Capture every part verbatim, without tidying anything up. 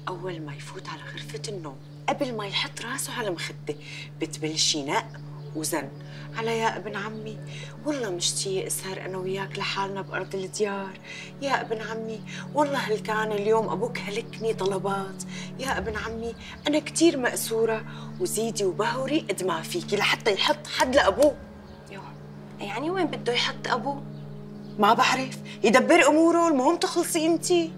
أول ما يفوت على غرفة النوم قبل ما يحط راسه على المخدة بتبلشي نق وزن على يا ابن عمي. والله مشتية اسهر أنا وياك لحالنا بأرض الديار يا ابن عمي. والله هل كان اليوم أبوك هلكني طلبات يا ابن عمي. أنا كتير مأسورة وزيدي وبهوري قد ما فيكي لحتى يحط حد لأبوه. يو يعني وين بده يحط أبوه؟ ما بعرف، يدبر أموره، المهم تخلصي أنتي.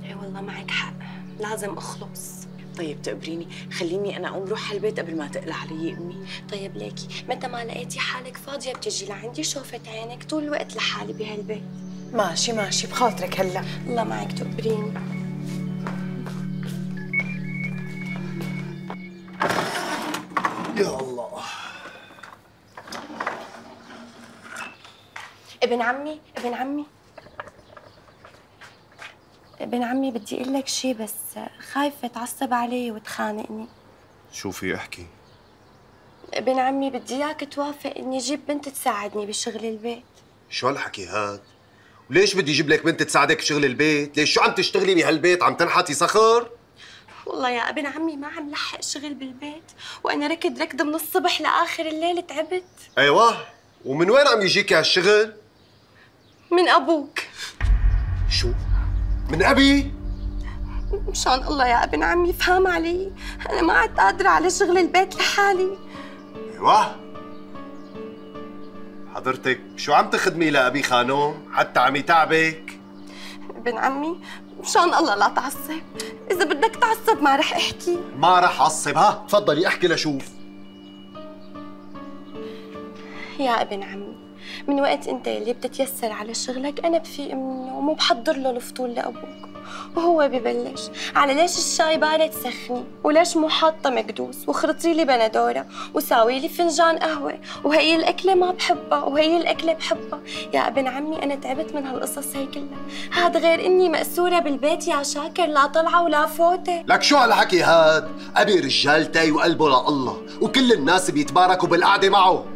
اي والله معك حق، لازم أخلص. طيب تقبريني، خليني أنا أقوم روح على البيت قبل ما تقلع علي أمي. طيب ليكي متى ما لقيتي حالك فاضية بتجي لعندي شوفت عينك طول الوقت لحالي بهالبيت. ماشي ماشي بخاطرك هلا. الله معك تقبريني. يا الله. ابن عمي ابن عمي ابن عمي بدي اقول لك شيء بس خايفة تعصب علي وتخانقني. شو في احكي؟ ابن عمي بدي اياك توافق اني اجيب بنت تساعدني بشغل البيت. شو هالحكي هاد؟ وليش بدي اجيب لك بنت تساعدك بشغل البيت؟ ليش شو عم تشتغلي بهالبيت؟ عم تنحتي صخر؟ والله يا ابن عمي ما عم لحق شغل بالبيت وانا ركض ركض من الصبح لاخر الليل تعبت. ايوه، ومن وين عم يجيك هالشغل؟ من ابوك. شو؟ من ابي؟ مشان الله يا ابن عمي فهم علي، انا ما عاد قادره على شغل البيت لحالي. ايوه حضرتك شو عم تخدمي لابي خانوم حتى عم يتعبك؟ ابن عمي مشان الله لا تعصب، اذا بدك تعصب ما رح احكي. ما رح اعصب. ها تفضلي احكي لشوف. يا ابن عمي من وقت انت اللي بتتيسر على شغلك انا بفيق من النوم وبحضر له الفطور لابوك وهو ببلش على ليش الشاي بارد سخني وليش مو حاطه مكدوس وخرطي لي بندوره وساوي لي فنجان قهوه وهي الاكله ما بحبها وهي الاكله بحبها. يا ابن عمي انا تعبت من هالقصص هي كلها، هاد غير اني مأسوره بالبيت يا شاكر، لا طلعه ولا فوته. لك شو هالحكي هاد؟ ابي رجالتي وقلبه لله وكل الناس بيتباركوا بالقعده معه.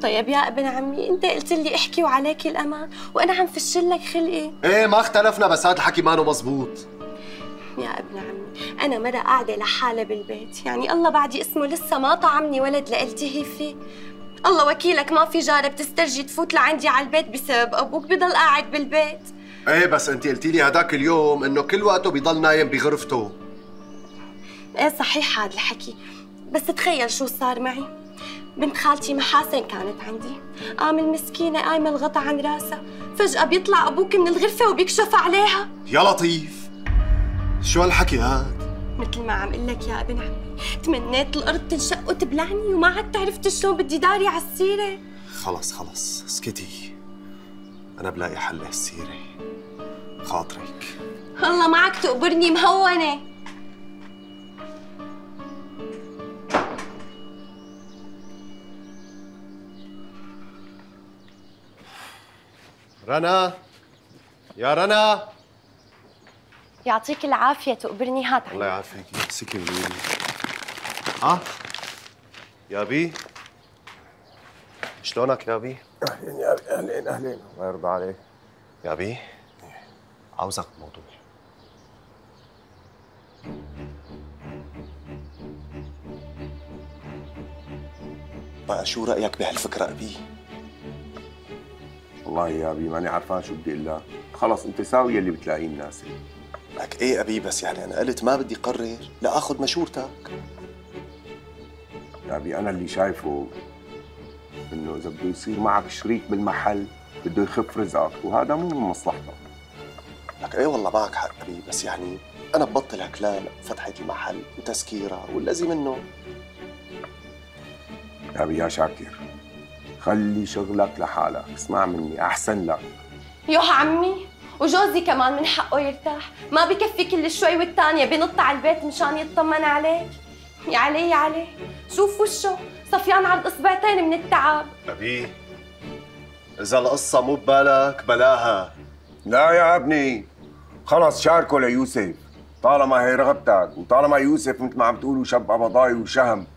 طيب يا ابن عمي انت قلت لي احكي وعليك الامان وانا عم فشل لك خلقي. ايه ما اختلفنا بس هذا الحكي مانو مزبوط. يا ابن عمي انا مرة قاعده لحالي بالبيت، يعني الله بعدي اسمه لسه ما طعمني ولد لالتهي فيه. الله وكيلك ما في جاره بتسترجي تفوت لعندي على البيت بسبب ابوك بضل قاعد بالبيت. ايه بس انت قلتي لي هداك اليوم انه كل وقته بيضل نايم بغرفته. ايه صحيح هذا الحكي، بس تخيل شو صار معي. بنت خالتي محاسن كانت عندي، قام المسكينة قايمة الغطا عن راسها، فجأة بيطلع أبوك من الغرفة وبيكشف عليها. يا لطيف شو هالحكي هاد؟ مثل ما عم قل لك يا ابن عمي، تمنيت الأرض تنشق وتبلعني وما عاد عرفت شلون بدي داري على السيرة. خلص خلص اسكتي، أنا بلاقي حل لهالسيرة، خاطرك. الله معك تقبرني مهونة. رنا يا رنا يعطيك العافية تقبرني. هات الله يعافيك. امسكي من ايدي. ها يا بي شلونك يا بي؟ اهلين يا بي. اهلين اهلين. الله يرضى عليك يا بي، عاوزك بموضوع. بقى شو رأيك بهالفكرة أبي؟ والله يا ابي ماني عرفان شو بدي اقول لك. خلص انت ساوي اللي بتلاقيه مناسب. لك ايه ابي، بس يعني انا قلت ما بدي قرر لا اخذ مشورتك. يا ابي انا اللي شايفه انه اذا بده يصير معك شريك بالمحل بده يخف رزقك وهذا مو من مصلحتك. لك ايه والله معك حق ابي، بس يعني انا ببطل هكلان فتحة المحل وتسكيرها والذي منه. يا ابي يا شاكر خلي شغلك لحالك، اسمع مني احسن لك. يوه عمي وجوزي كمان من حقه يرتاح، ما بكفي كل شوي والتانية بنط على البيت مشان يطمن عليك. يا علي يا علي شوف وشه صفيان على الاصبعتين من التعب. ابي اذا القصة مو ببالك بلاها. لا يا ابني خلص شاركه ليوسف، طالما هي رغبتك وطالما يوسف مثل ما عم تقولوا شب قبضاي وشهم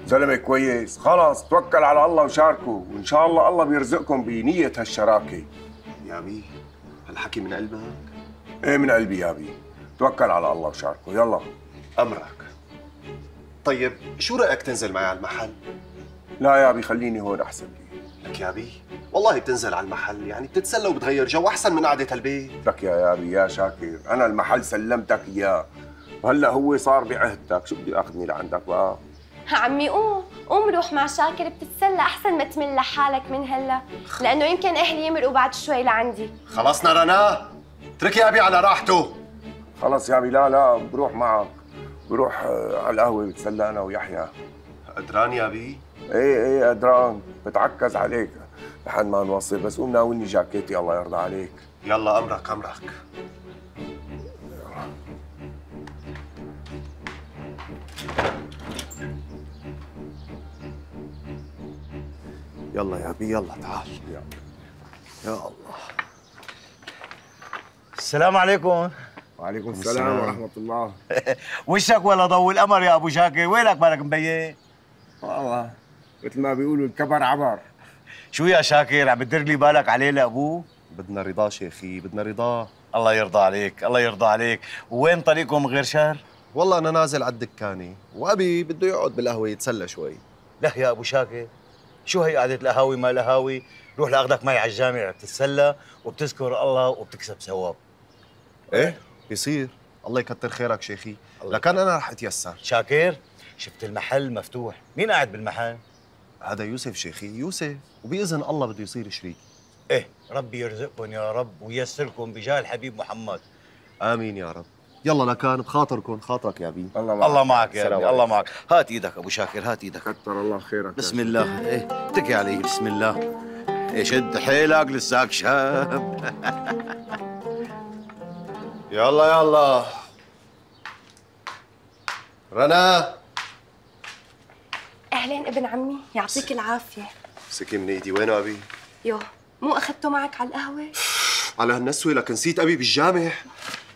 زلمه كويس، خلص توكل على الله وشاركه وان شاء الله الله بيرزقكم بنية هالشراكه. يا ابي هالحكي من قلبك؟ ايه من قلبي يا ابي، توكل على الله وشاركه. يلا. امرك. طيب شو رايك تنزل معي على المحل؟ لا يا ابي خليني هون احسن لي. لك يا بي والله بتنزل على المحل يعني بتتسلى وبتغير جو احسن من قعده البيت. لك يا يا ابي يا شاكر، انا المحل سلمتك اياه وهلا هو صار بعهدتك، شو بدي اخذني لعندك بقى؟ عمي قوم قوم روح مع شاكر بتتسلى احسن ما تمل لحالك من هلا، لانه يمكن اهلي يمرقوا بعد شوي لعندي. خلصنا رنا، اترك يا ابي على راحته. خلص يا ابي. لا لا بروح معك، بروح على القهوه بتسلى انا ويحيى. قدران يا ابي؟ ايه ايه قدران، بتعكز عليك لحد ما نوصل، بس قوم ناولني جاكيتي الله يرضى عليك. يلا امرك امرك. يلا يا ابي يلا تعال. يا, يا الله. السلام عليكم. وعليكم السلام ورحمة الله. وشك ولا ضوء القمر يا ابو شاكر، وينك مالك مبين؟ والله مثل ما بيقولوا الكبر عبر. شو يا شاكر عم بتدر لي بالك عليه لابوه؟ بدنا رضا شيخي، بدنا رضا. الله يرضى عليك، الله يرضى عليك. وين طريقكم غير شهر؟ والله انا نازل على الدكانه وابي بده يقعد بالقهوه يتسلى شوي. لا يا ابو شاكر، شو هي قعدة القهاوي ما لهاوي؟ روح لاخذك معي على الجامع بتتسلى وبتذكر الله وبتكسب ثواب. ايه بيصير. الله يكتر خيرك شيخي، لكن انا رح اتيسر. شاكر شفت المحل مفتوح، مين قاعد بالمحل؟ هذا يوسف شيخي، يوسف، وباذن الله بده يصير شريك. ايه ربي يرزقكم يا رب وييسركم بجاه الحبيب محمد. امين يا رب. يلا لكان بخاطركم، خاطرك يا بي. الله معك. الله معك يا ابني، الله معك. هات ايدك ابو شاكر، هات ايدك. كتر الله خيرك. بسم الله. ايه اتكي علي. بسم الله. ايه شد حيلك لساك شاب. يلا يلا رنا. اهلين ابن عمي، يعطيك العافيه. امسكي من ايدي. وينه ابي؟ يو مو اخذته معك على القهوه؟ على هالنسوه لك نسيت ابي بالجامع.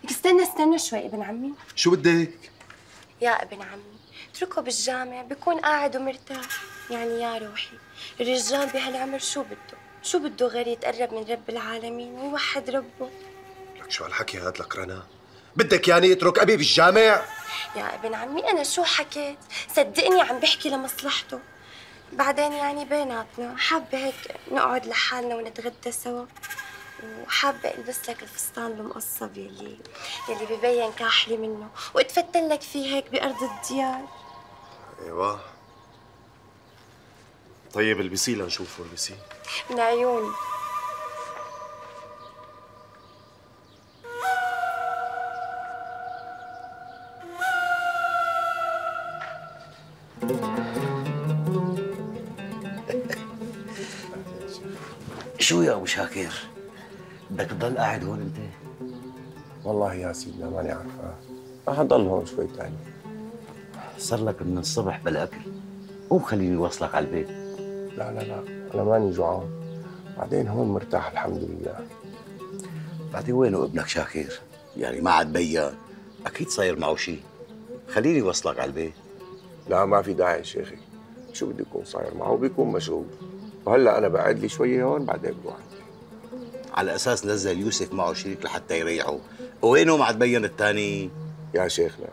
لك استنى استنى شوي ابن عمي. شو بدك؟ يا ابن عمي اتركه بالجامع بكون قاعد ومرتاح. يعني يا روحي الرجال بهالعمر شو بده؟ شو بده غير يتقرب من رب العالمين ويوحد ربه؟ لك شو هالحكي هاد لك رنا؟ بدك يعني اترك ابي بالجامع؟ يا ابن عمي انا شو حكيت؟ صدقني عم بحكي لمصلحته. بعدين يعني بيناتنا حابه هيك نقعد لحالنا ونتغدى سوا، وحابه البس لك الفستان المقصب يلي يلي ببين كاحلي منه واتفتل لك فيه هيك بارض الديار. ايوه طيب البسيه لنشوفه. البسيه من عيوني. شو يا ابو شاكر؟ بدك تضل قاعد هون انت؟ والله يا سيدنا ماني عارفة، رح اضل هون شوي تاني. صار لك من الصبح بلا اكل، قوم خليني اوصلك على البيت. لا لا لا انا ماني جوعان، بعدين هون مرتاح الحمد لله. بعدين وينه ابنك شاكر؟ يعني ما عاد بين، اكيد صاير معه شيء. خليني اوصلك على البيت. لا ما في داعي شيخي، شو بده يكون صاير معه؟ بيكون مشغول، وهلا انا بقعد لي شويه هون بعدين بروح. على اساس نزل يوسف معه شريك لحتى يريحه، وينه ما عاد بين الثاني؟ يا شيخنا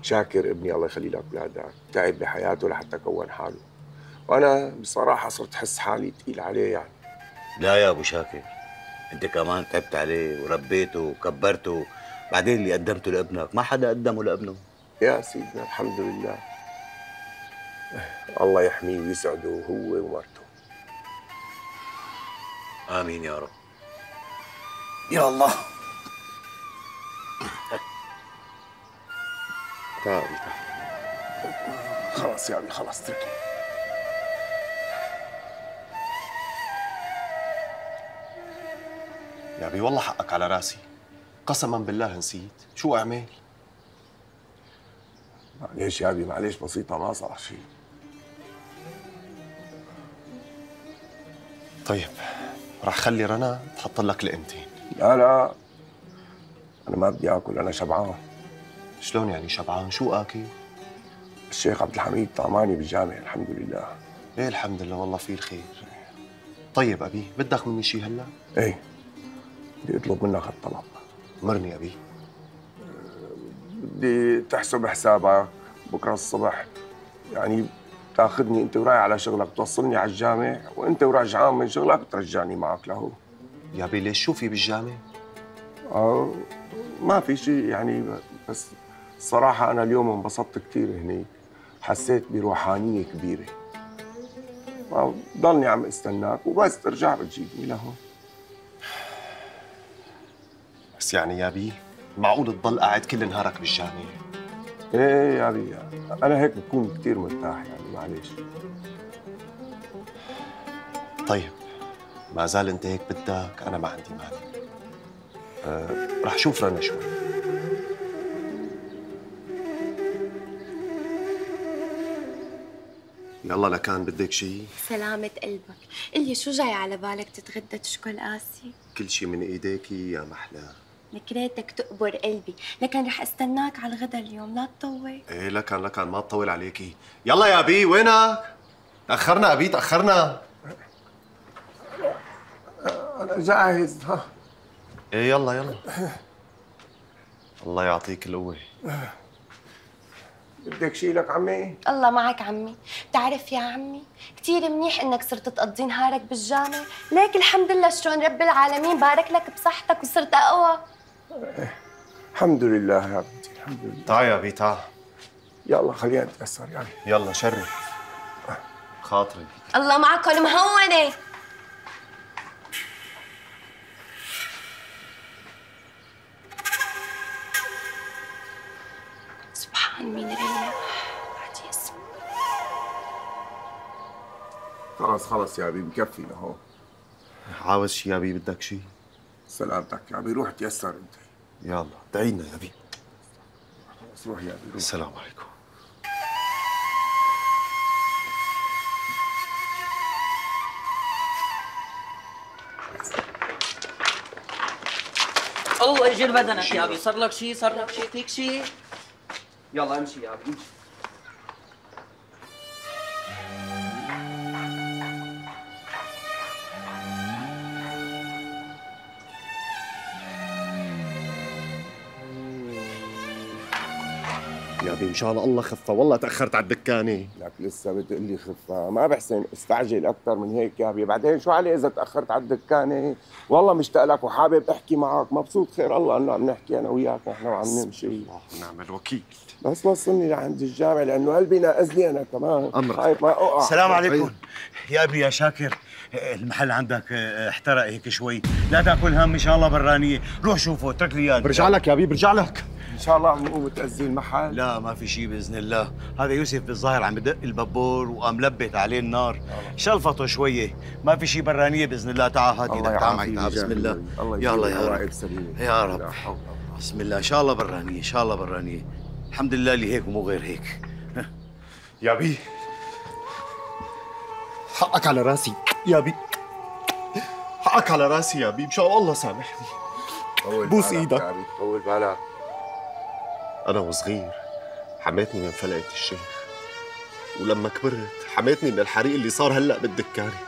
شاكر ابني الله يخلي لك اولادك تعب بحياته لحتى كون حاله، وانا بصراحه صرت احس حالي ثقيل عليه يعني. لا يا ابو شاكر، انت كمان تعبت عليه وربيته وكبرته، بعدين اللي قدمته لابنك ما حدا قدمه لابنه. يا سيدنا الحمد لله، الله يحميه ويسعده هو ومرته. امين يا رب. يا الله. تعال تعال. خلاص يا ابي خلاص اتركني. يا ابي والله حقك على راسي، قسما بالله نسيت. شو اعمل؟ معلش يا ابي معلش، بسيطه ما صار شيء. طيب رح خلي رنا تحط لك لقمتين. لا لا انا ما بدي اكل، انا شبعان. شلون يعني شبعان؟ شو اكل؟ الشيخ عبد الحميد طعماني بالجامع الحمد لله. ايه الحمد لله والله في الخير. طيب ابي بدك مني شيء هلا؟ ايه بدي اطلب منك هالطلب. مرني ابي. بدي تحسب حسابك بكره الصبح، يعني تاخذني انت ورايح على شغلك، توصلني على الجامع، وانت ورجعان من شغلك ترجعني معك لهو. يا بي ليش شو في بالجامع؟ اه ما في شيء يعني، بس الصراحة أنا اليوم انبسطت كثير هنيك، حسيت بروحانية كبيرة. ضلني عم استناك وبس ترجع بتجيبني لهون. بس يعني يا بي معقول تضل قاعد كل نهارك بالجامع؟ ايه يا بي أنا هيك بكون كثير مرتاح يعني، معلش. طيب ما زال أنت هيك بدك، أنا ما عندي مانع. أه رح شوف رنا شوي. يلا لكان بدك شيء؟ سلامة قلبك، قلي شو جاي على بالك تتغدى تشكل قاسي؟ كل شيء من ايديكي يا محلاه. نكريتك تقبر قلبي، لكن رح استناك على الغدا اليوم، لا تطول. ايه لكان لكان ما تطول عليكي. يلا يا بي وينك؟ تأخرنا أبي تأخرنا. أنا جاهز. ها ايه يلا يلا. الله يعطيك القوة. بدك شيء لك عمي؟ الله معك عمي، بتعرف يا عمي كثير منيح انك صرت تقضي نهارك بالجامع، ليك الحمد لله شلون رب العالمين بارك لك بصحتك وصرت اقوى. الحمد لله يا بنتي الحمد لله. تعال يا بي تعال. يلا خلينا نتأثر يعني. يلا شرف. خاطري. الله معك المهونة. سبحان مين ريح بعد اسم. خلص خلص يا بي بكفي لهون. عاوز شي يا بي؟ بدك شي؟ سلامتك يا بي، روح تيسر انت. يلا دعينا يا بي. خلص روح يا بي روح. السلام عليكم. الله يجير بدنك يا ابي، صار لك شيء؟ صار لك شيء؟ فيك شيء؟ يلا امشي يا ابي امشي. يا بي مشان الله خفة، والله تأخرت على الدكانة. لك لسه بتقول لي خفة؟ ما بحسن استعجل أكثر من هيك يا بي، بعدين شو علي إذا تأخرت على الدكانة؟ والله مشتاق لك وحابب أحكي معك، مبسوط خير الله إنه عم نحكي أنا وياك ونحن وعم نمشي. الله ونعم الوكيل. بس وصلني لعند الجامع لأنه قلبي ناقز لي أنا كمان. أمرك. خايف ما أوقع. السلام عليكم. يا ابي يا شاكر، المحل عندك احترق هيك شوي، لا تاكل هم ان شاء الله برانيه، روح شوفه اترك لي اياه. برجع لك يا بي برجع لك. إن شاء الله عم نقوم تأذي المحل. لا ما في شيء باذن الله، هذا يوسف بالظاهر عم بدق البابور وقام لبت عليه النار، شلفطه شويه، ما في شيء برانيه باذن الله. تعال هات ايدك، تعال معي تعال. بسم الله. يلا يا رب يا رب. بسم الله ان شاء الله برانيه، ان شاء الله برانيه. الحمد لله اللي هيك ومو غير هيك. يا بي حقك على راسي يا بي، حقك على راسي يا بي، مشان الله سامحني. بوس ايدك. طول بالك. أنا وصغير حماتني من فلقة الشيخ، ولما كبرت حماتني من الحريق اللي صار هلأ بالدكانة.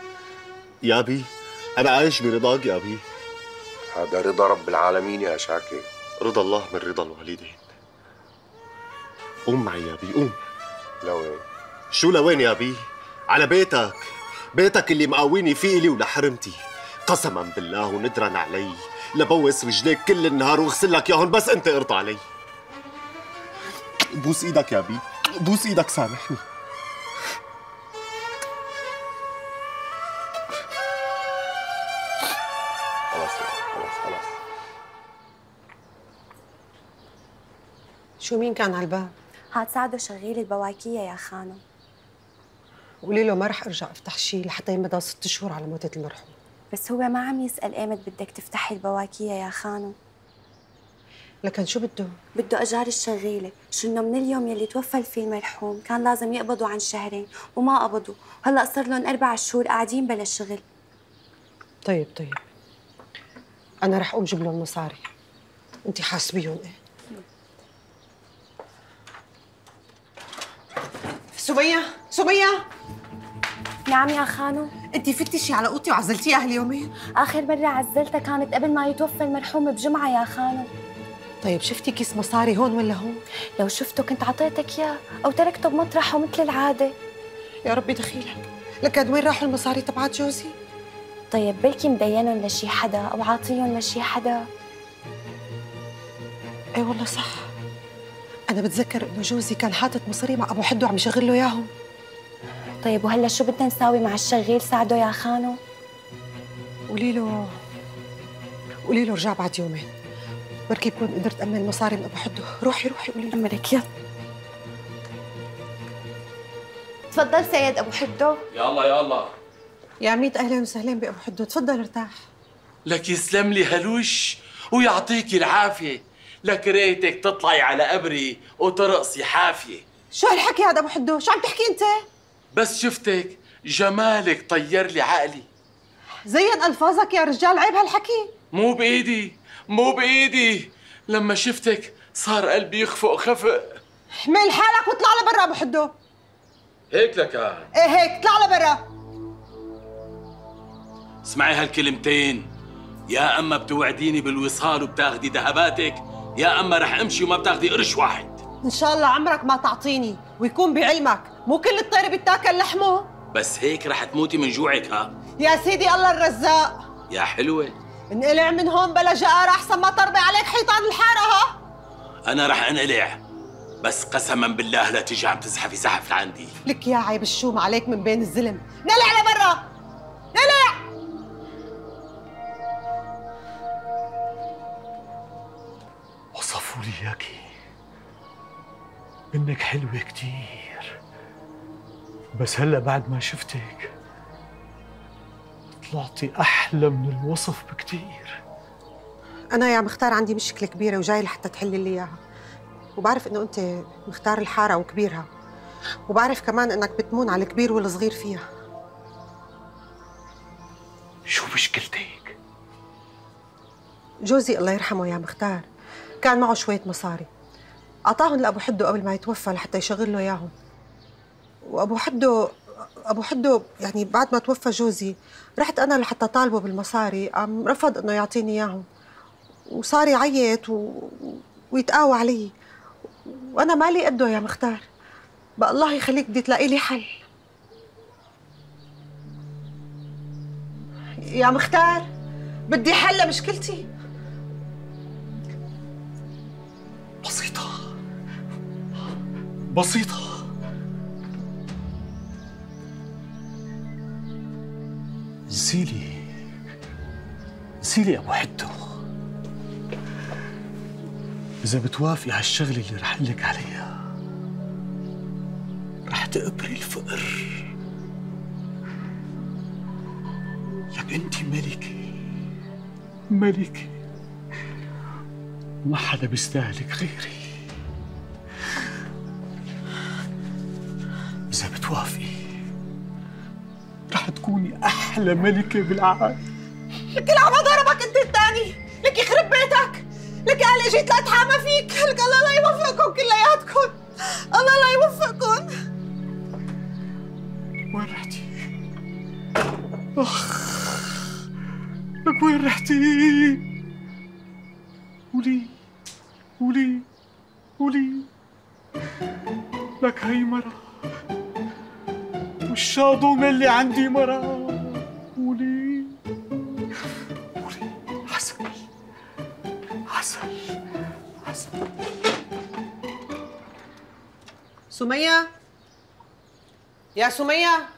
يا بي أنا عايش برضاك يا بي. هذا رضا رب العالمين يا شاكر. رضا الله من رضا الوالدين. قوم معي يا بي قوم. لوين؟ شو لوين يا بي؟ على بيتك، بيتك اللي مقاويني فيه إلي ولحرمتي. قسما بالله وندرا علي لبوس رجليك كل النهار واغسل لك ياهن بس أنت ارضى علي. بوس ايدك يا بي، بوس ايدك سامحني. خلاص خلاص خلاص. شو مين كان على الباب؟ هاد سعده شغيل البواكية يا خانو. قولي له ما رح ارجع افتح شيء لحتى يمضى ست شهور على موتة المرحوم. بس هو ما عم يسأل ايمت بدك تفتحي البواكية يا خانو. لكن شو بده؟ بده اجار الشغيله، شو انه من اليوم يلي توفى فيه المرحوم كان لازم يقبضوا عن شهرين وما قبضوا، وهلا صار لهم اربع شهور قاعدين بلا شغل. طيب طيب انا رح اقوم جيب لهم مصاري، انت حاسبيهم. ايه سمية سمية نعم يا خانو. انت فتشي على اوضتي وعزلتيها هاليومين؟ اخر مره عزلتها كانت قبل ما يتوفى المرحوم بجمعه يا خانو. طيب شفتي كيس مصاري هون ولا هون؟ لو شفته كنت عطيتك إياه أو تركته بمطرحه مثل العادة. يا ربي دخيلك، لك قد وين راحوا المصاري تبعات جوزي؟ طيب بلكي مدينهم لشي حدا أو عاطيهم لشي حدا. ايه والله صح، أنا بتذكر إنه جوزي كان حاطط مصاري مع أبو حدو عم يشغل له إياهم. طيب وهلا شو بدنا نساوي مع الشغيل؟ ساعده يا خانو. قولي له قولي له رجع بعد يومين، بركي بكون قدرت أمن مصاري من أبو حدو. روحي روحي قولي له. أمرك يلا. تفضل سيد أبو حدو. يلا يلا يا عميد أهلا وسهلا بأبو حدو، تفضل ارتاح. لك يسلم لي هلوش ويعطيكي العافية. لك ريتك تطلعي على قبري وترقصي حافية. شو هالحكي هذا أبو حدو؟ شو عم تحكي أنت؟ بس شفتك جمالك طير لي عقلي. زين ألفاظك يا رجال، عيب هالحكي. مو بإيدي مو بإيدي، لما شفتك صار قلبي يخفق خفق. احمل حالك واطلع لبرا أبو حدو. هيك لكان؟ ايه هيك، اطلع لبرا. اسمعي هالكلمتين، يا اما بتوعديني بالوصال وبتاخدي ذهباتك، يا اما رح امشي وما بتاخدي قرش واحد. ان شاء الله عمرك ما تعطيني، ويكون بعلمك مو كل الطير بيتاكل لحمه. بس هيك رح تموتي من جوعك. ها يا سيدي الله الرزاق. يا حلوة، انقلع من هون بلا جقارة احسن ما تربي عليك حيطان الحارة. ها انا رح انقلع، بس قسما بالله لا تيجي عم تزحفي زحف لعندي. لك يا عيب الشوم عليك من بين الزلم. نقلع لبرا، نقلع. وصفوا لي اياكي انك حلوة كتير، بس هلا بعد ما شفتك طلعتي احلى من الوصف بكتير. انا يا مختار عندي مشكلة كبيرة وجاي لحتى تحلي لي اياها، وبعرف انه انت مختار الحارة وكبيرها، وبعرف كمان انك بتمون على الكبير والصغير فيها. شو مشكلتك؟ جوزي الله يرحمه يا مختار كان معه شوية مصاري، أعطاهم لأبو حدو قبل ما يتوفى لحتى يشغل له إياهم. وأبو حدو أبو حدو يعني بعد ما توفى جوزي رحت أنا لحتى طالبه بالمصاري، قام رفض إنه يعطيني إياهم، وصار يعيط و... ويتقاوى علي، وأنا مالي قده يا مختار. بقى الله يخليك بدي تلاقي لي حل يا مختار، بدي حل لمشكلتي. بسيطة بسيطة. نسيلي نسيلي أبو حدو، إذا بتوافقي على الشغلة اللي رح أقلك عليها رح تقبري الفقر. لك أنت ملكة ملكة وما حدا بيستاهلك غيري. إذا بتوافقي رح تكوني أحلى ملكة بالعالم. لك العب ضربك أنت الثاني، لك يخرب بيتك، لك أنا جيت لأتحامى فيك، لك الله لا يوفقكم كلياتكم، الله لا يوفقكم. وين رحتي؟ أخ لك وين رحتي؟ قولي قولي قولي. لك هي مرة والشاضومة اللي عندي مرة. قولي قولي. عسل عسل عسل. سمية يا سمية.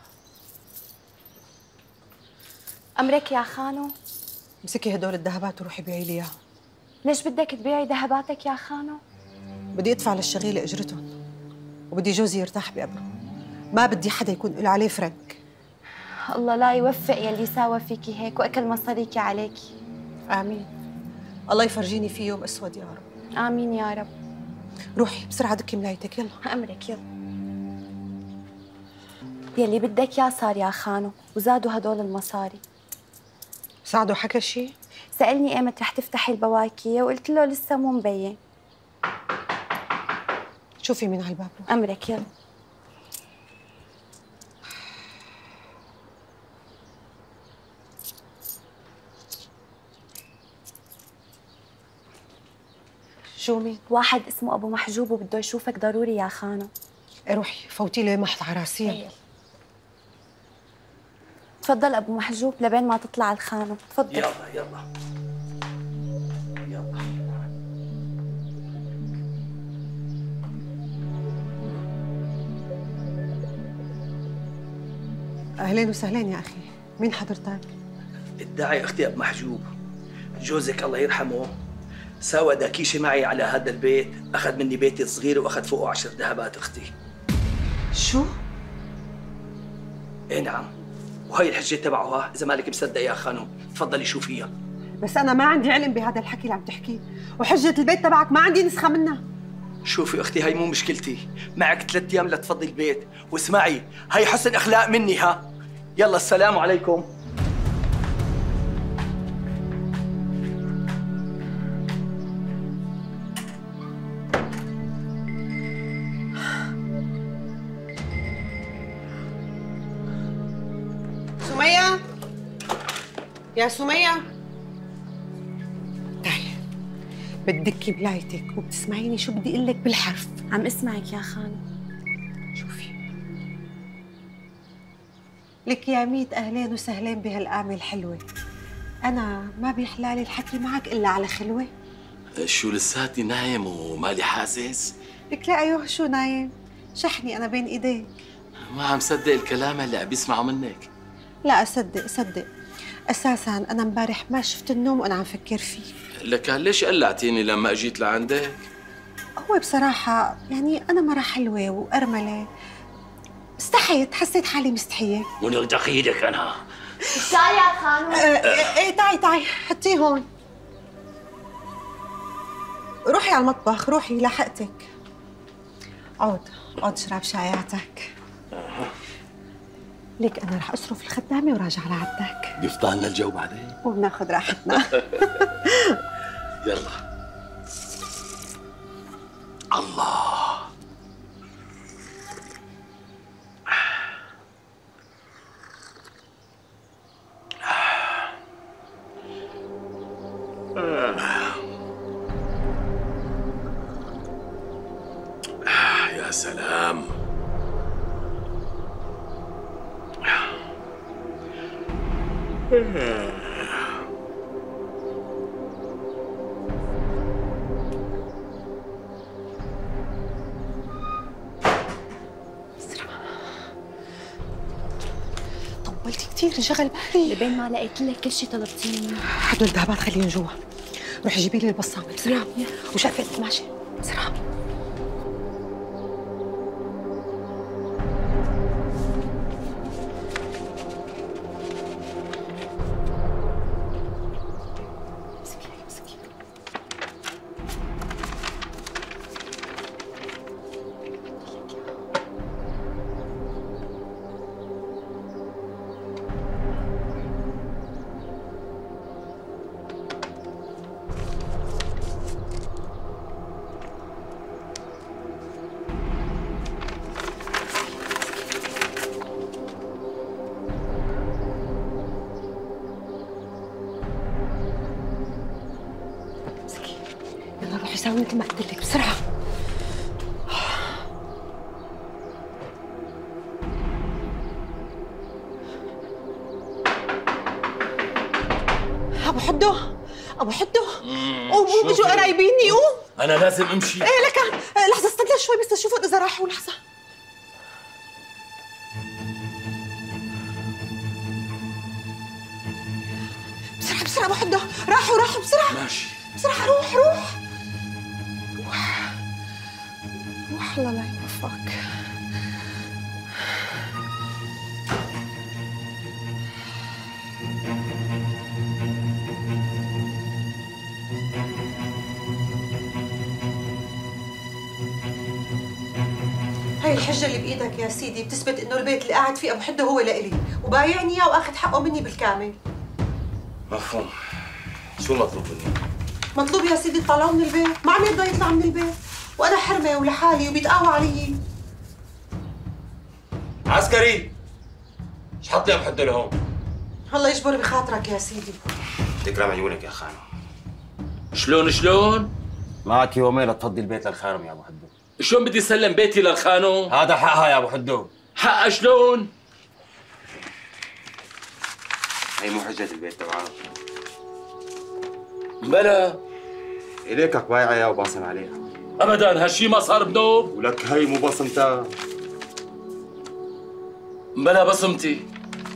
أمرك يا خانو. امسكي هدول الذهبات وروحي بيعي لي اياهم. ليش بدك تبيعي ذهباتك يا خانو؟ بدي ادفع للشغيلة اجرتهم، وبدي جوزي يرتاح بقبره، ما بدي حدا يكون له عليه فرنك. الله لا يوفق يلي ساوى فيكي هيك واكل مصاريكي عليكي. امين. الله يفرجيني فيه يوم اسود يا رب. امين يا رب. روحي بسرعه دكي ملايتك. يلا امرك. يلا يلي بدك يا صار يا خانو، وزادوا هدول المصاري. سعدوا حكى شيء؟ سألني ايمت رح تفتحي البواكية وقلت له لسه مو مبين. شوفي مين على الباب. امرك. يلا شو مين؟ واحد اسمه ابو محجوب وبده يشوفك ضروري يا خانم. روحي فوتي لي محط على راسي. تفضل ابو محجوب لبين ما تطلع الخانم، تفضل. يلا يلا يلا. اهلين وسهلين يا اخي، مين حضرتك؟ الداعي اختي ابو محجوب، جوزك الله يرحمه ساوى داكيشة معي على هذا البيت، اخذ مني بيتي الصغير واخذ فوقه عشر ذهبات اختي. شو؟ ايه نعم، وهي الحجة تبعها، اذا مالك مصدق يا خانم تفضلي شوفيها. بس انا ما عندي علم بهذا الحكي اللي عم تحكيه، وحجة البيت تبعك ما عندي نسخة منها. شوفي اختي، هي مو مشكلتي، معك ثلاث ايام لتفضي البيت، واسمعي هي حسن اخلاق مني ها. يلا السلام عليكم. سمية يا سمية، تعي بتدكي بلايتك وبتسمعيني شو بدي اقول لك بالحرف. عم اسمعك يا خانم. شوفي لك يا ميت اهلين وسهلين بهالقعمة الحلوة، انا ما بيحلالي الحكي معك الا على خلوة. شو لساتني نايم ومالي حاسس؟ لك لا ايوه شو نايم، شحني انا بين ايديك. ما عم صدق الكلام اللي عم بيسمعه منك. لا اصدق صدق، اساسا انا امبارح ما شفت النوم وانا عم فكر فيه. لك ليش قلعتيني لما اجيت لعندك؟ هو بصراحة يعني أنا مرة حلوة وأرملة، استحيت، حسيت حالي مستحية. ونغدق ايدك أنا. الشاي يا خانم. ايه ايه تعي تعي حطيه هون. روحي على المطبخ، روحي لحقتك. عود عود اشرب شاياتك. ليك أنا رح أصرف الخدامة وراجع لعندك. بيفضلنا الجو بعدين وبناخذ راحتنا. يلا. الله. يا سلام. طولتي كثير انشغل بالي. لبين ما لقيت لك كل شيء طلبتيه مني. هدول الذهبات خليهم جوا، روحي جيبي لي البصامة بسرعة وشقفة القماشة بسرعة. روحي ساوي مثل ما قلت لك بسرعة. أبو حدو أبو حدو قوم قوم بيجوا قرايبيني قوم. أنا لازم أمشي. إيه لك لحظة استنى شوي بس أشوفهم إذا راحوا. لحظة. بسرعة بسرعة أبو حدو، راحوا راحوا بسرعة. ماشي بسرعة روح روح روح روح الله لا يوفقك. هاي الحجة اللي بإيدك يا سيدي بتثبت إنه البيت اللي قاعد فيه أبو حدو هو لإلي، وبايعني إياه وأخذ حقه مني بالكامل. مفهوم. شو مطلوب مني؟ مطلوب يا سيدي تطلعوه من البيت، ما عم يرضى يطلع من البيت، وأنا حرمة ولحالي وبيتقاوى علي. عسكري، ايش حط لي ابو حدو لهون؟ الله يجبر بخاطرك يا سيدي. تكرم عيونك يا خانم. شلون شلون؟ معك يومين لتفضي البيت للخارم يا ابو حدو. شلون بدي سلم بيتي للخانو؟ هذا حقها يا ابو حدو. حقها شلون؟ هي مو حجة البيت تبعها. بلا إليكك بايعة يا وباصم عليها. ابدا هالشي ما صار بنوب. ولك هي مو بصمتها. بلا بصمتي.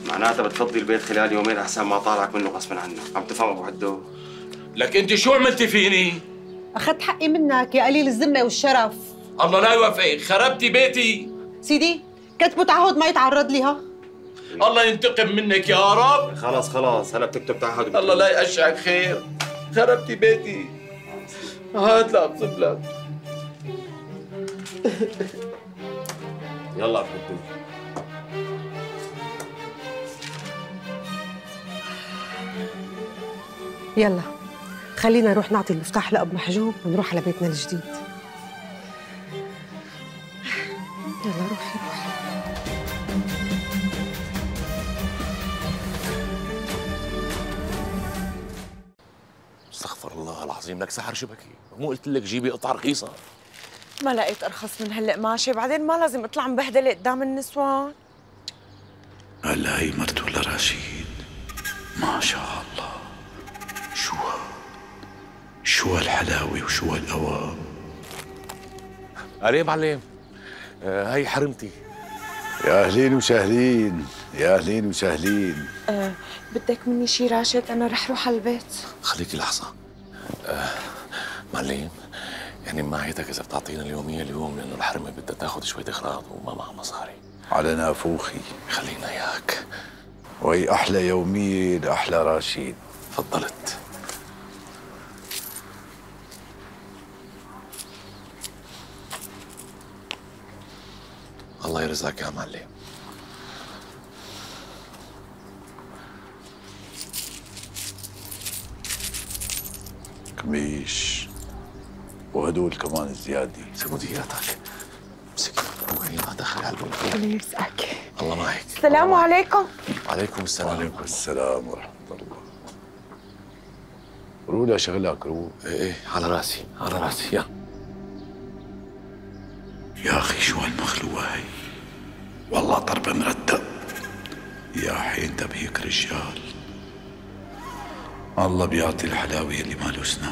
معناتها بتفضي البيت خلال يومين احسن ما طالعك منه غصبا عنك، عم تفهم ابو حدو؟ لك انت شو عملتي فيني؟ اخذت حقي منك يا قليل الذمه والشرف. الله لا يوفقك، خربتي بيتي. سيدي كتبوا تعهد ما يتعرض لي ها. الله ينتقم منك يا رب. خلاص خلاص هلا بتكتب تعهد. الله لا يقشعك خير، خربتي بيتي. هات لا ابصب لك. يلا ابو حدو. يلا خلينا نروح نعطي المفتاح لأب محجوب ونروح على بيتنا الجديد. يلا روحي روحي. استغفر الله العظيم، لك سحر شبكي، مو قلت لك جيبي قطعه رخيصه؟ ما لقيت ارخص من هالقماشه، بعدين ما لازم اطلع مبهدله قدام النسوان. هلا هي مرته لرشيد، ما شاء الله، شو شو هالحلاوه وشو هالقوام. علي معلم، آه هي حرمتي. يا اهلين وسهلين، يا اهلين وسهلين. أه بدك مني شي راشد؟ انا رح روح على البيت. خليكي لحظه. آه معلم، يعني معيتك اذا بتعطينا اليوميه اليوم، لانه الحرمه بدها تاخذ شويه اغراض وما معها مصاري. على نافوخي. خلينا اياك. وهي احلى يوميه لاحلى راشد. تفضلت. الله يرزقك يا معلم. كميش وهدول كمان زياده. سمودياتك. امسكي روحي لا دخل على البيت. الله يرزقك. الله معك. السلام عليكم. وعليكم السلام. وعليكم السلام ورحمه الله. رولا شغلك رو. ايه ايه على راسي على راسي. يا يا اخي شو هالمخلوقه هي، والله ضربه مرتب. يا حين تبهيك رجال، الله بيعطي الحلاوه اللي ما له اسنان.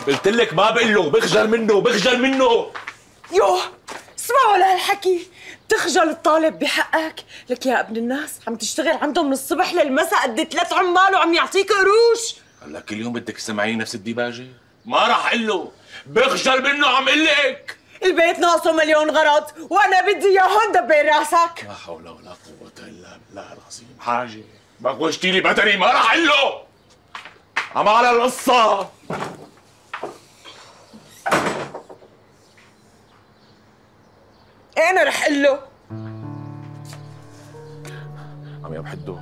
قلت لك ما بقول له، بخجل منه بخجل منه. يوه اسمعوا لهالحكي، بتخجل الطالب بحقك؟ لك يا ابن الناس عم تشتغل عندهم من الصبح للمساء قد ثلاث عمال وعم يعطيك قروش. هلا كل يوم بدك تسمعيني نفس الديباجه؟ ما راح اقول له، بخجل منه عم اقول لك. البيت ناقصه مليون غرض وانا بدي اياهم دبر راسك. لا حول ولا قوة الا بالله العظيم. حاجه ما غوشتي لي بدني، ما راح اقول له. عم على القصه. انا رح اقول له. عم يا بحدو،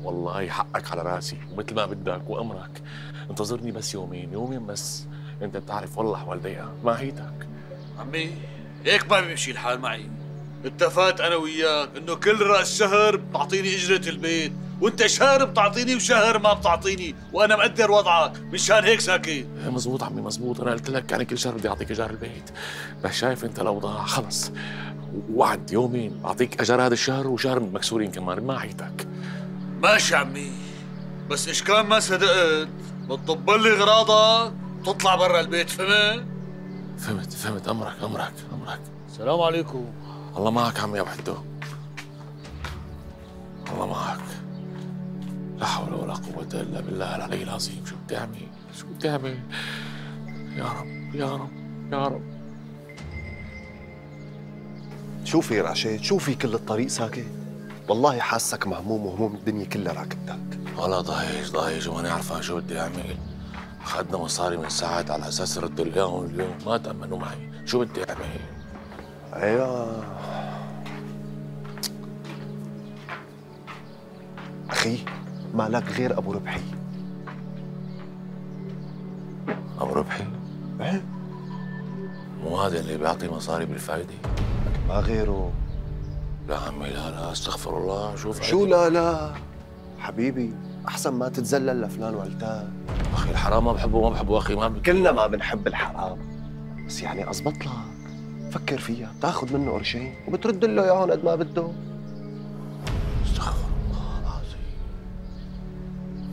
والله حقك على راسي ومثل ما بدك وامرك. انتظرني بس يومين يومين بس، انت بتعرف والله احوال ضيقه ماهيتك. عمي هيك ما بيمشي الحال معي. اتفقت انا وياك انه كل راس شهر بتعطيني اجره البيت، وانت شهر بتعطيني وشهر ما بتعطيني، وانا مقدر وضعك، مشان هيك ساكت. مزبوط عمي مزبوط، انا قلت لك يعني كل شهر بدي اعطيك ايجار البيت، بس شايف انت الاوضاع خلص. وعد يومين اعطيك اجار هذا الشهر وشهر مكسورين كمان بماعيتك. ماشي عمي، بس ايش كان ما صدقت بتطبل لي غراضك تطلع برا البيت، فهمت؟ فهمت فهمت. امرك امرك امرك. السلام عليكم. الله معك عمي يا وحدو، الله معك. لا حول ولا قوة إلا بالله العلي العظيم. شو بدي أعمل؟ شو بدي أعمل؟ يا رب يا رب يا رب. شوفي رشيد، شوفي كل الطريق ساكت. والله حاسك مهموم وهموم الدنيا كلها راكبتك. والله ضايج ضايج وماني عارفة شو بدي أعمل. أخذنا مصاري من ساعات على أساس ردوا اليوم اليوم ما تأمنوا معي، شو بدي أعمل؟ ايوه اخي، ما لك غير ابو ربحي. ابو ربحي؟ ايه مو هذا اللي بيعطي مصاري بالفايدة؟ ما غيره. لا عمي لا لا استغفر الله. شوف شو لا لا حبيبي، احسن ما تتذلل لفلان وعلتان. اخي الحرام ما بحبه ما بحبه اخي، ما ب... كلنا ما بنحب الحرام، بس يعني اضبط لك، فكر فيها، بتاخذ منه قرشين وبترد له اياهم قد ما بده. استغفر الله العظيم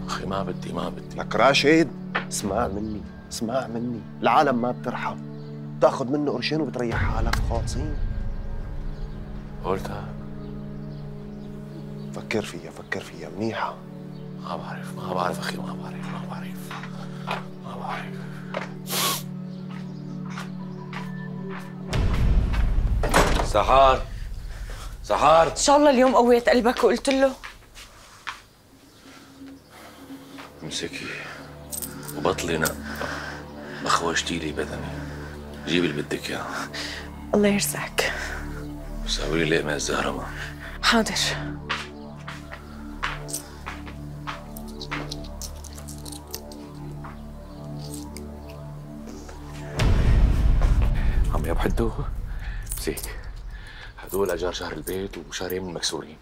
اخي، ما بدي ما بدي. لك راشد اسمع مني اسمع مني، العالم ما بترحم، بتاخذ منه قرشين وبتريح حالك خالصين. قلتها. فكر فيها فكر فيها منيحة. ما بعرف ما بعرف اخي، ما بعرف ما بعرف ما بعرف. سحار سحار، ان شاء الله اليوم قويت قلبك وقلت له. امسكي وبطلي نق، بخوشتي لي بدني، جيبي اللي بدك اياه. الله يرزقك. سوي لي لقمة الزهرماء. حاضر. عمي ابو حدو امسك، هدول اجار شهر البيت وشهرين من المكسورين،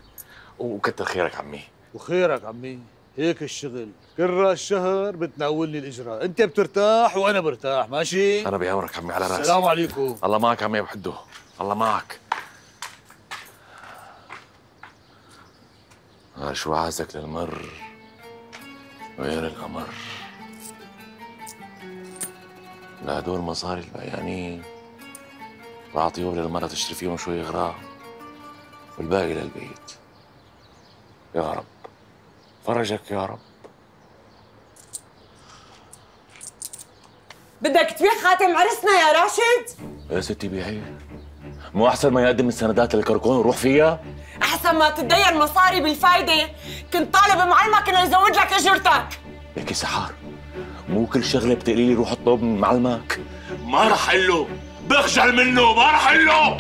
وكتر خيرك عمي. وخيرك عمي، هيك الشغل، كل راس شهر بتناولني الاجراء، انت بترتاح وانا برتاح، ماشي؟ انا بأمرك عمي على راسي. السلام عليكم. الله معك عمي ابو حدو، الله معك. آه شو عازك للمر غير القمر، لهدول مصاري البيانين بعطيهم للمرة تشتري فيهم شوي غراء والباقي للبيت. يا رب فرجك يا رب. بدك تبيع خاتم عرسنا يا راشد؟ يا ستي بيعيه، مو أحسن ما يقدم السندات للكركون وروح فيها؟ أحسن ما تتدين مصاري بالفايدة، كنت طالب معلمك إنه يزود لك أجرتك. ليكي سحار، مو كل شغلة بتقولي لي روح اطلب من معلمك. ما رح اقله، بخجل منه، ما رح اقله.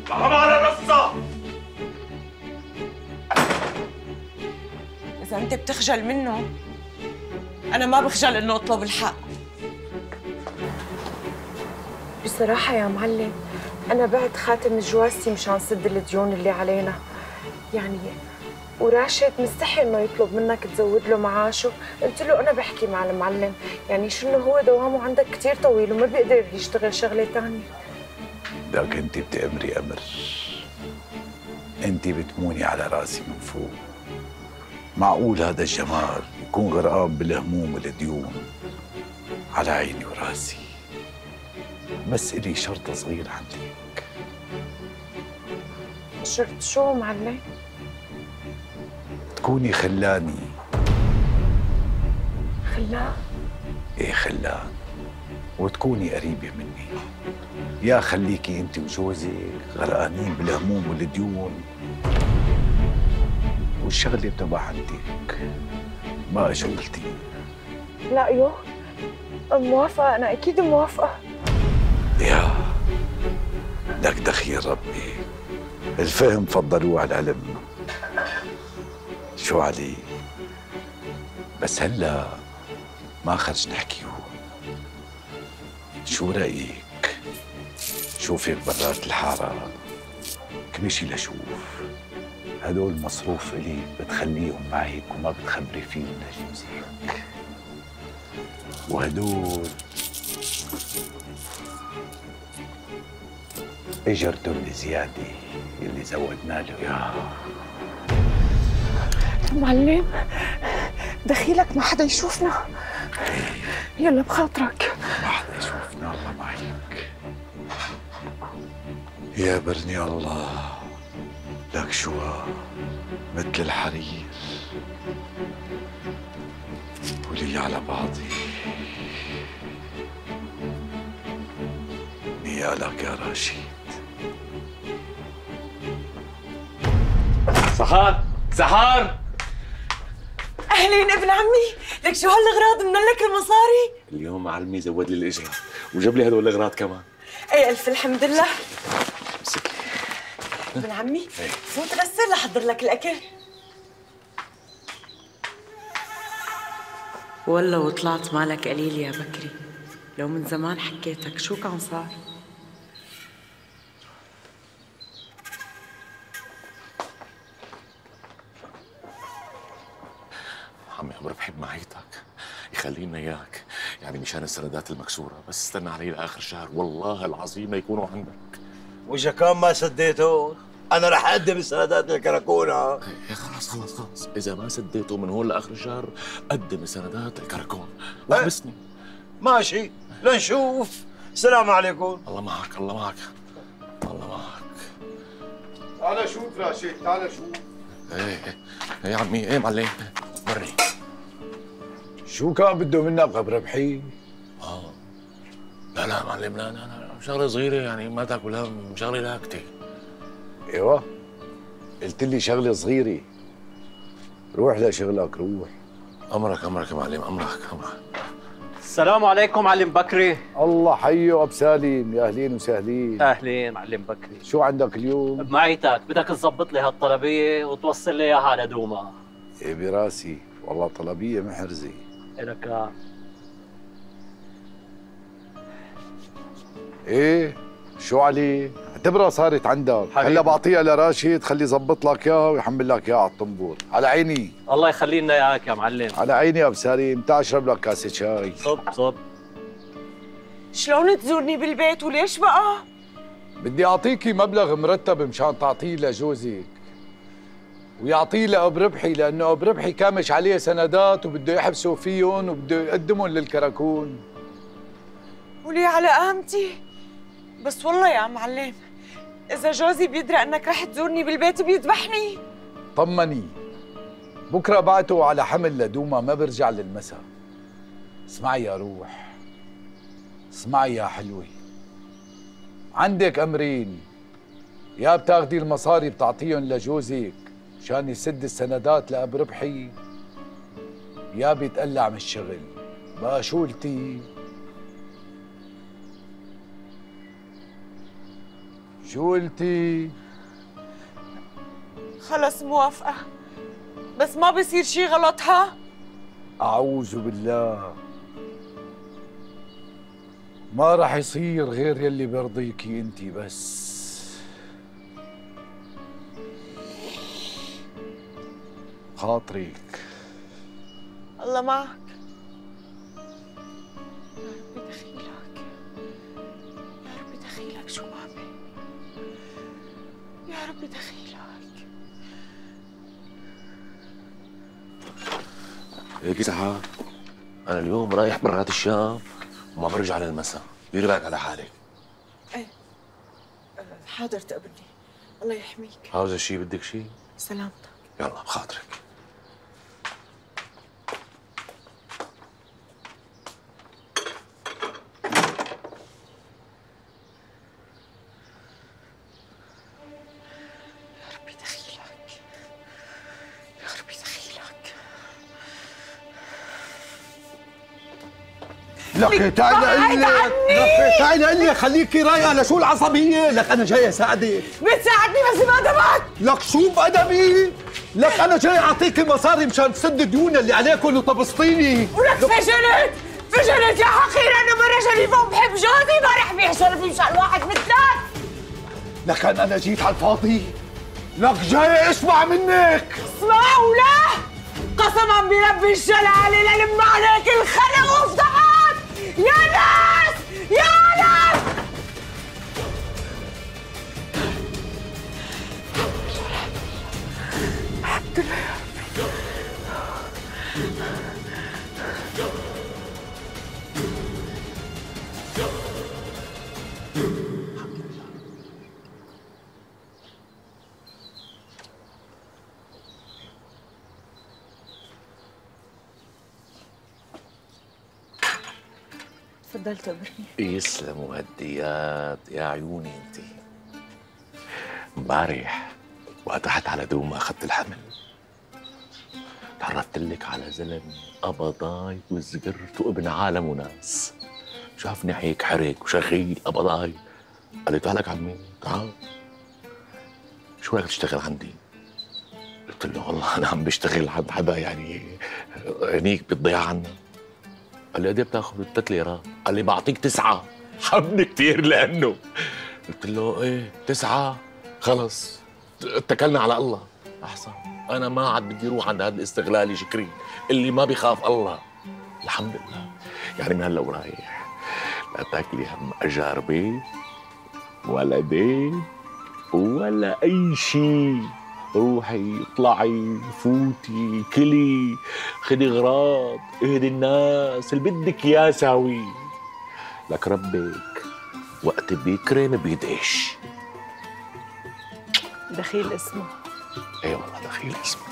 حرام على الرصة. إذا أنت بتخجل منه، أنا ما بخجل إنه أطلب الحق. بصراحة يا معلم، أنا بعت خاتم جوازتي مشان سد الديون اللي علينا، يعني وراشد مستحي إنه يطلب منك تزود له معاشه، قلت له أنا بحكي مع المعلم، يعني شو إنه هو دوامه عندك كثير طويل وما بيقدر يشتغل شغلة ثانية. لك أنت بتأمري أمر، أنت بتموني على راسي من فوق. معقول هذا الجمال يكون غرقان بالهموم والديون؟ على عيني وراسي، بس إلي شرط صغير عندك. شرط شو معلم؟ تكوني خلاني. خلان؟ ايه خلان، وتكوني قريبة مني. يا خليكي انت وجوزك غرقانين بالهموم والديون، والشغلة بتبقى عندك، ما اجى قلتي. لا يو، موافقة، أنا أكيد موافقة. يا لك دخيل ربي، الفهم فضلوه على العلم. شو علي؟ بس هلا ما خرج نحكيه. شو رأيك؟ شوفك برات الحارة، كمشي لشوف. هدول مصروف إلي بتخليهم معك وما بتخبري فيهم لجوزك. وهدول اجرته الزيادة اللي زودنا له اياها. معلم دخيلك ما حدا يشوفنا. يلا بخاطرك. ما حدا يشوفنا الله معك. يا برني الله، لك شو مثل الحرير ولي على بعضي. نيالك يا راشد. سحار سحار، اهلين ابن عمي، لك شو هالاغراض؟ من لك المصاري؟ اليوم معلمي زود لي الاجره وجاب لي هدول الاغراض كمان. ايه الف الحمد لله. امسكي ابن عمي، فوت غسل لحضر لك الاكل. والله وطلعت مالك قليل يا بكري، لو من زمان حكيتك شو كان صار. عمي ابو ربحي بمعيتك يخلينا اياك، يعني مشان السندات المكسوره، بس استنى علي لاخر الشهر والله العظيم ما يكونوا عندك. واذا كان ما سديته انا رح اقدم السندات للكراكونه. ايه خلاص خلاص خلاص، اذا ما سديته من هون لاخر الشهر قدم السندات للكراكون واحبسني. ماشي لنشوف. السلام عليكم. الله معك الله معك الله معك. تعال شوف راشد، تعال شوف. ايه ايه يا عمي، ايه معلم ورني. شو كان بده منك ابو ربحي؟ اه لا لا معلم، لا لا لا شغله صغيره يعني ما تاكل هم، شغله لاكته. ايوه قلت لي شغله صغيره، روح لشغلك روح. امرك امرك يا معلم، امرك امرك. السلام عليكم معلم بكري. الله حيه ابو سالم، يا اهلين وسهلين. اهلين معلم بكري. شو عندك اليوم؟ بمعيتك بدك تظبط لي هالطلبيه وتوصل لي اياها على دوما. ايه براسي، والله طلبيه محرزه. إلك ايه شو علي؟ اعتبرها صارت عندك، هلا بعطيها لراشد خليه يظبط لك اياها ويحمل لك اياها على الطنبور. على عيني. الله يخلي لنا اياك يا معلم. على عيني يا ابو سالم، تعال اشرب لك كاسه شاي. صب صب. شلون تزورني بالبيت وليش بقى؟ بدي اعطيكي مبلغ مرتب مشان تعطيه لجوزك ويعطيه لأبو ربحي، لانه ابو ربحي كامش عليه سندات وبده يحبسوا فيهم وبده يقدمهم للكراكون. ولي على قامتي؟ بس والله يا معلم اذا جوزي بيدرى انك رح تزورني بالبيت بيذبحني. طمني، بكره بعته على حمل لدوما ما برجع للمساء. اسمعي يا روح، اسمعي يا حلوه، عندك امرين، يا بتاخدي المصاري بتعطيهم لجوزك مشان يسد السندات لأبو ربحي، يا بيتقلع من الشغل. بقى شو قلتي؟ شو قلتي؟ خلص موافقة، بس ما بصير شي غلط ها؟ أعوذ بالله، ما رح يصير غير يلي بيرضيكي انتي بس. خاطرك. الله معك. يا ربي دخيلك، يا ربي دخيلك شو بابي، يا ربي دخيلك. هيك سحاب، أنا اليوم رايح برات الشام وما برجع للمساء، ديري بالك على حالك. ايه حاضر تقبلني، الله يحميك. عاوزة شيء؟ بدك شيء؟ سلامتك. يلا بخاطرك. لك تعالي قل لك، لك تعالي قل لك، خليكي رايقه. لشو العصبيه؟ لك انا جاي اساعدك. بتساعدني بس بأدبك. لك شو بأدبي؟ لك انا جاي اعطيكي مصاري مشان تسد الديون اللي عليكم وتبسطيني. ولك فشلت فشلت يا حقير، انا مرة شريفة وبحب جوزي، ما رح بيع شرفي مشان واحد مثلك. لك انا جيت على الفاضي، لك جاي اسمع منك. اسمع ولا قسما برب الجلالة للم عليك الخلق وافتحك يا ناس يا ناس. الحمد لله يا ربي. تفضل تقبرني. يسلموا هالديات يا عيوني انتي. امبارح وقت رحت على دوما اخذت الحمل تعرفت لك على زلمه قبضاي وزقرت وابن عالم وناس. شافني هيك حرك وشغيل قبضاي، قال لي تعالك عمي تعال، شو رايك تشتغل عندي؟ قلت له والله انا عم بشتغل عند حدا يعني عينيك بتضيع عنا. قال لي قد ايه بتاخذ؟ ثلاث ليرات. قال لي بعطيك تسعه. حبني كثير لانه قلت له ايه تسعه خلص اتكلنا على الله. احسن. انا ما عاد بدي اروح عند هذا الاستغلالي شكري اللي ما بيخاف الله. الحمد لله. يعني من هلا ورايح لا تاكلي هم اجاربي ولا دين ولا اي شيء. روحي اطلعي فوتي كلي خدي غراض اهدي الناس اللي بدك اياه ساوي. لك ربك وقت بيكرم بيدعش. دخيل اسمه. اي والله دخيل اسمه.